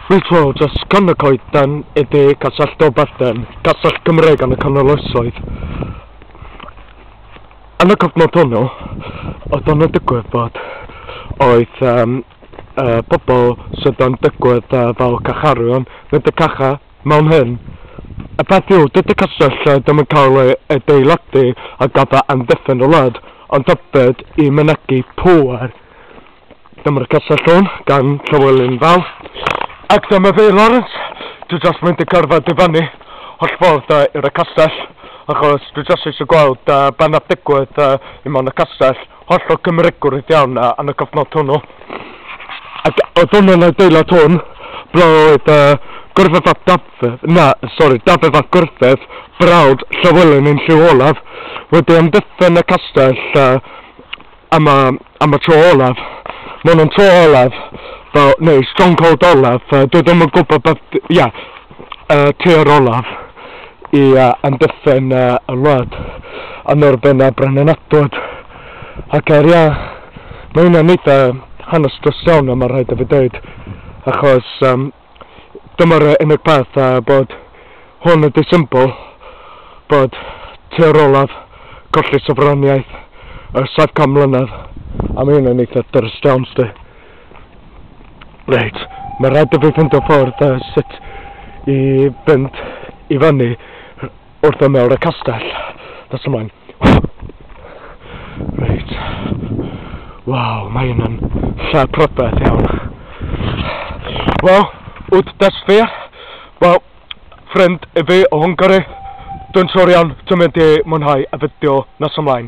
Reit wel, dros gan y coeden ydy Castell Dolbadarn, castell Gymreig yn y canol oesoedd. Yn y cyfnod hwnnw, oedd o'n digwydd bod oedd pobl sydd yn digwydd fel carcharorion mynd y cacha mewn hyn. Y peth yw, dydy castell ddim yn cael ei adeiladu ar gyfer amddiffyn y wlad, ond hefyd i mynegi pŵer. Dyma'r castell hwn gan Llywelyn Fawr. Ac dyma fi, Lawrence. Dwi just mynd i cerdded i fyny holl ffordd i'r castell, achos dwi just eisiau gweld be nath digwydd i mewn y castell, hollol Cymreigwrdd iawn yn y cyfnod hwnnw. Ac oedd hwnnw'n adeilad hwn, ble oedd Gruffudd ap Dafydd, na, sori, Dafydd ap Gruffudd, brawd Llywelyn ein llyw olaf, wedi amddiffyn y castell am y tro olaf. Mae hwn yn tro olaf, fel, neu stronghold olaf, dwi ddim yn gwybod beth, ia, tir olaf i amddiffyn y wlad yn erbyn y Brenin Edward. Ac ia, mae hwnna'n eitha hanes dros iawn, mae rhaid i fi dweud, achos dyma'r unig peth bod hwn ydy symbol bod tir olaf colli sofraniaeth ers 700 mlynedd, a mae hwnna'n eitha drist iawn, sti. Reit, mae rhaid i fi ffeindio ffordd sut i fynd i fyny wrth ymyl y castell. That's ymlaen. Reit. Waw, mae hynna'n lle prydferth iawn. Wel, wt desfir. Wel, ffrind i fi o Hwngari, dwi'n siŵr iawn ti'n mynd i mwynhau y fideo nes ymlaen.